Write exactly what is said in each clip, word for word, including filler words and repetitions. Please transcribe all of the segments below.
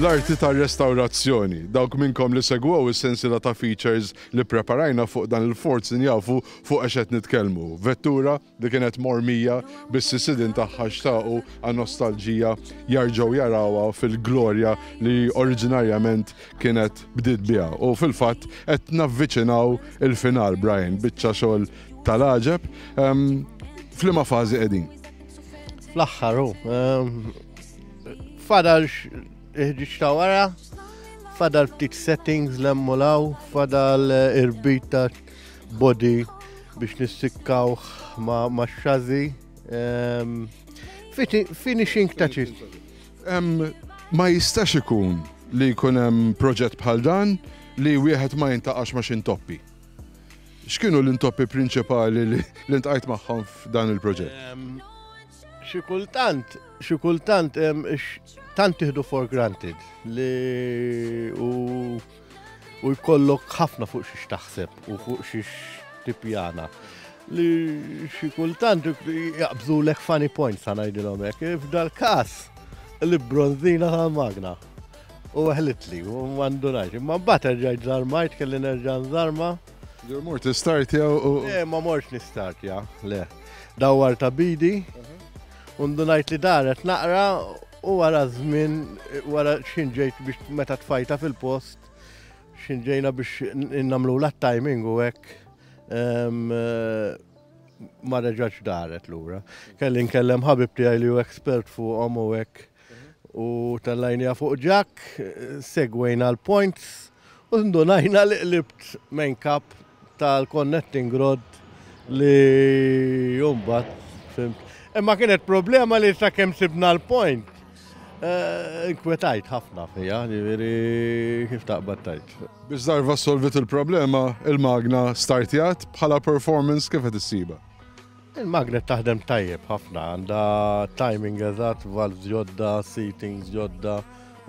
L-arti tar-restawrazzjoni. Dawk minnkom li segwew is-sensiela ta' features li preparajna fuq dan il-Fordson jafu fuq għax qed nitkellmu. Vettura li kienet mormija biss is-sidin tagħha xtaqu għan nostalġija jarġgħu jarawha fil-glorja li oriġinarjament kienet bdiet biha. U fil-fatt qed navviċinaw il-final, Brian, biċċa xogħol tal-għaġeb. F'liema fażi qegħdin? Fl-aħħar hu. Fadal il-ħġiġ ta' wara, fadal ftit settings l-emmulaw, fadal irbit ta' body biex nissikkaw ma', ma chassis. Um, finishing touches. Um, ma jistax ikun li jkun hemm proġett bħal dan li wieħed ma jiltaqax ma' x'intoppi. X'kienu l-intoppi prinċipali li ltqajt magħhom f'dan il-proġett? Um, xi kultant, xi kultant tant tieħdu for granted li u u jkollok ħafna fuq xiex taħseb u fuq xiex tippjana. Li xi kultant jaqbżulek funny points, ħa ngħidilhom hekk. F'dal każ li bronzina tal-magna. U għehlitli, u m'għandunajx. Imma mbagħad erġajt żarmajt, kelli nerġa' nżarma. Mort tistartja u. Le, ma mortx nistartja, le. Dawwar ta' bidi, u ndunajt li daret naqra u wara żmien, wara xinġejt biex meta tfajta fil-post, xinġejna biex nagħmlu la timing u hekk ma reġax daret lura. Kelli nkellem ħabib tiegħi li hu expert fuqhom u hekk u tellajnija fuq jack, segwejna l-points u ndunajna li qlibt main cap tal-connecting rod li jumbat, fhimt. Imma kienet problema li sa kemm sibna l-point. Inkwetajt ħafna fija, ġifieri kif taqbad tajt. Biex darba solvit il-problema, il-magna startjat bħala performance kif qed issiba? Il-magna taħdem tajjeb ħafna, għandha timing eżatt, valves ġodda, seatings ġodda.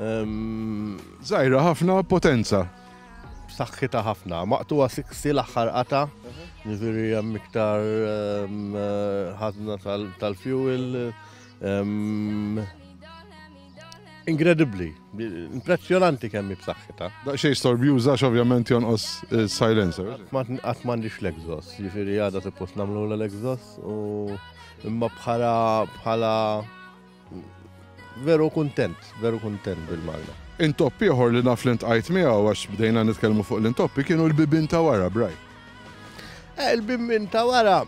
Żgħira ħafna potenza. Saħħitha ħafna, maqtugħa sikksa l-aħħar qata, ġifieri hemm iktar ħażna tal-fuel. Incredibly, impressjonanti kemm b'saħħitha. Daqsxejn storbjuża ovvjament jonqos silencer. Qatt m'għandix l-exhaust, ġifieri għada suppost nagħmlu l-exhaust u imma bħala bħala veru kuntent, veru kuntent bil-magna. Intoppi ieħor li naf li ltqajt miegħu għax bdejna nitkellmu fuq l-intoppi kienu l-bibin ta' wara, Braj. Eh, il-bibin ta' wara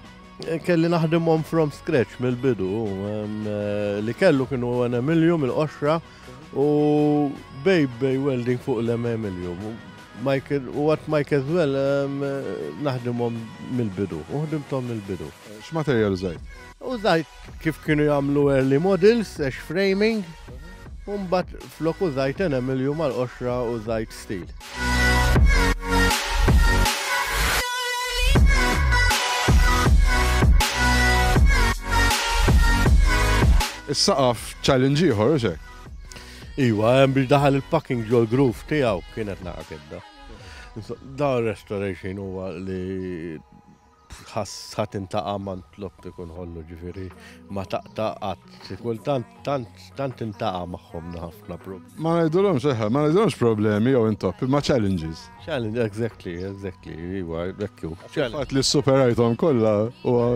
kelli naħdimhom from scratch mill-bidu. Li kellu kienu aluminium il-qoxra u bej bej welding fuq l-aluminium. Michael, u għat Mike as well naħdimhom mill-bidu, u ħdimthom mill-bidu. X'materjal użajt? Użajt kif kienu jagħmlu early models, ash framing, u mbagħad flok użajt aluminium mal-qoxra użajt steel. Is-saqaf challenge ieħor, u hekk? Iwa, hemm biex daħal il-packing ġol groove tiegħu kienet naqa kedda. Da restoration huwa li ħass ħadd intaqa' ma ntlok ikun ħollu ġifieri ma taqta' qatt. Kultant tant tant intaqa' magħhom ħafna problemi. Ma ngħidulhomx eħe, ma ngħidulhomx problemi jew intoppi, ma challenges. Challenge, exactly, exactly, iwa, ekku. Fatt li superajthom kollha huwa.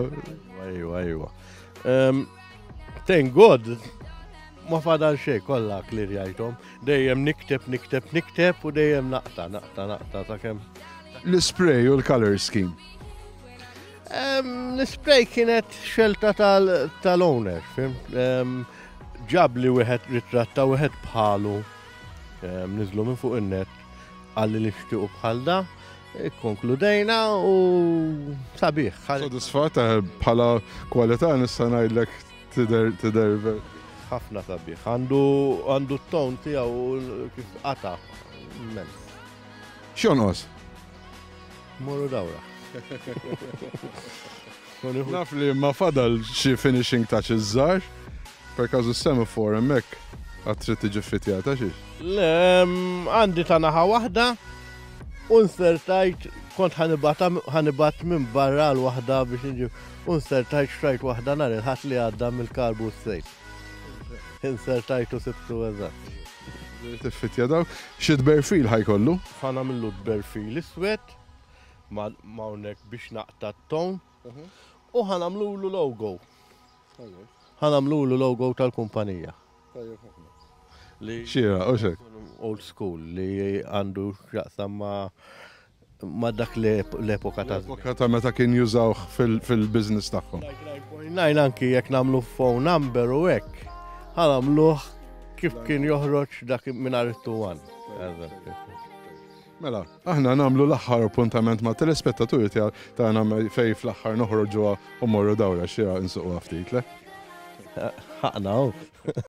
Iwa, iwa. Thank God, ma fadal xejn kollha klirjajthom. Dejjem nikteb, nikteb, nikteb u dejjem naqta, naqta, naqta sakemm. L-spray u l-color scheme. L-spray kienet xelta tal-owner, fhimt? Ġab li wieħed ritratta wieħed bħalu, niżlu minn fuq in-net, qalli li nixtiequ bħal da, ikkonkludejna u sabiħ. Sodisfatt bħala kwalità nista' ngħidlek tidher tidher ħafna sabiħ. Għandu għandu t-ton tiegħu kif qata' immens. X'jonqos? Morru dawra. Naf li ma fadal xi finishing touches żgħar, per każu semaphore hemmhekk għad trid tiġi ffitjata xiex. Le, għandi ta' naħa waħda u nsertajt kont ħa nibgħat minn barra l-waħda biex nġib u nsertajt xtrajt waħda nhar il-Ħadd li għadda mill-car boot sale. Insertajtu sibtu eżatt. Tiffitja daw. Xi tberfil ħa jkollu? Ħa nagħmillu tberfil iswed ma' hawnhekk biex naqta' t-ton u ħa nagħmlulu logo. Ħa nagħmlulu logo tal-kumpanija. Li Xira, u xek. Old school li għandu x'jaqsam ma' ma' dak l-epoka ta' Epoka ta' meta kien jużawh fil-business tagħhom. nine anki jekk nagħmlu phone number u hekk, ħa nagħmluh kif kien joħroġ dak mingħajr it-two one. Mela, aħna nagħmlu l-aħħar appuntament ma' telespettaturi tagħna fej fl-aħħar noħroġuha u morru dawra xira nsuqu ftit, le? Ħaqna,